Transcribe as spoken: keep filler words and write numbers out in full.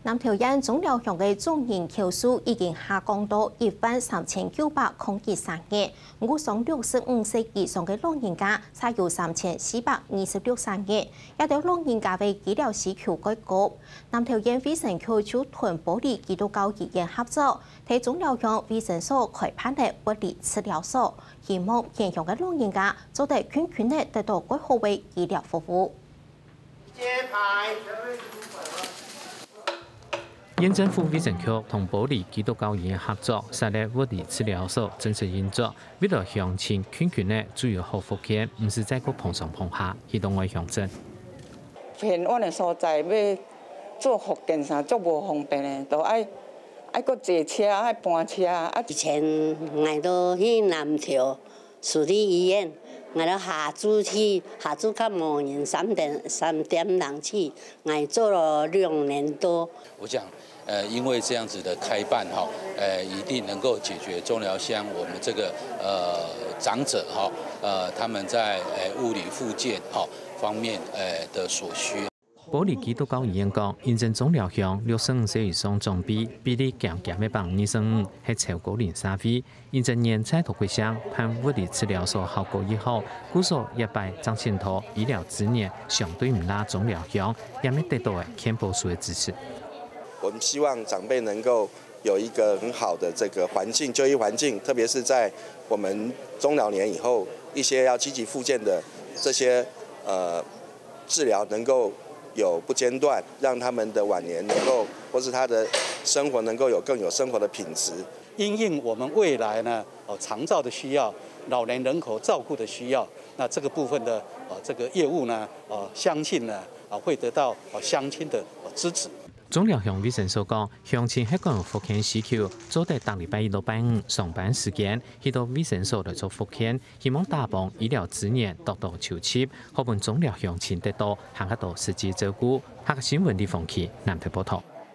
南投縣中寮鄉个總人口數已經下降到一萬三千九百空一儕人，毋過上六十五歲以上个老人家才有三千四百二十六儕人，這兜老人家个醫療需求較高。南投縣衛生局就同埔里基督教醫院合作，在中寮鄉衛生所開辦了物理治療所，希望偏鄉个老人家做得近近仔得到較好个醫療服務。 縣政府衛生局同埔里基督教醫院合作，設立物理治療所正式運作。為了鄉親近近仔就有好復健，毋使再過嗙上嗙下去到外鄉診。偏遠个所在欲做復健啥，足無方便个，都愛愛過坐車，愛搬車啊。以前𠊎都去南投 私立醫院，𠊎到下晝去，下晝較無人，三點三點零去，𠊎做了兩年多。我想，呃，因為這樣子的開辦哈，呃，一定能夠解決中寮鄉我們這個呃長者哈，呃，他們在呃物理復健哈方面呃的所需。 埔里基督教醫院講，因為中寮鄉六十五歲以上長輩比例漸漸仔放二十五，係超高齡社會。因為年在頭過省，辦物理治療所效果已好，故所這擺正請到醫療資源相對毋罅中寮鄉，也乜得到健保署个支持。我們希望長輩能夠有一個很好的這個環境，就醫環境，特別是在我們中老年以後，一些要積極復健的這些呃治療能夠有不間斷，讓他們的晚年能夠，或是他的生活能夠有更有生活的品質。因應我們未來呢，呃，長照的需要，老年人口照顧的需要，那這個部分的呃這個業務呢，呃，相信呢，啊會得到呃鄉親的呃支持。中寮鄉衛生所講，鄉親係講有復健需求，做得逐禮拜一到拜五上班時間去到衛生所來做復健， 希望打幫醫療資源得到籌集，好分中寮鄉親得到還較多實際照顧。客家新聞李鳳琪南投報導。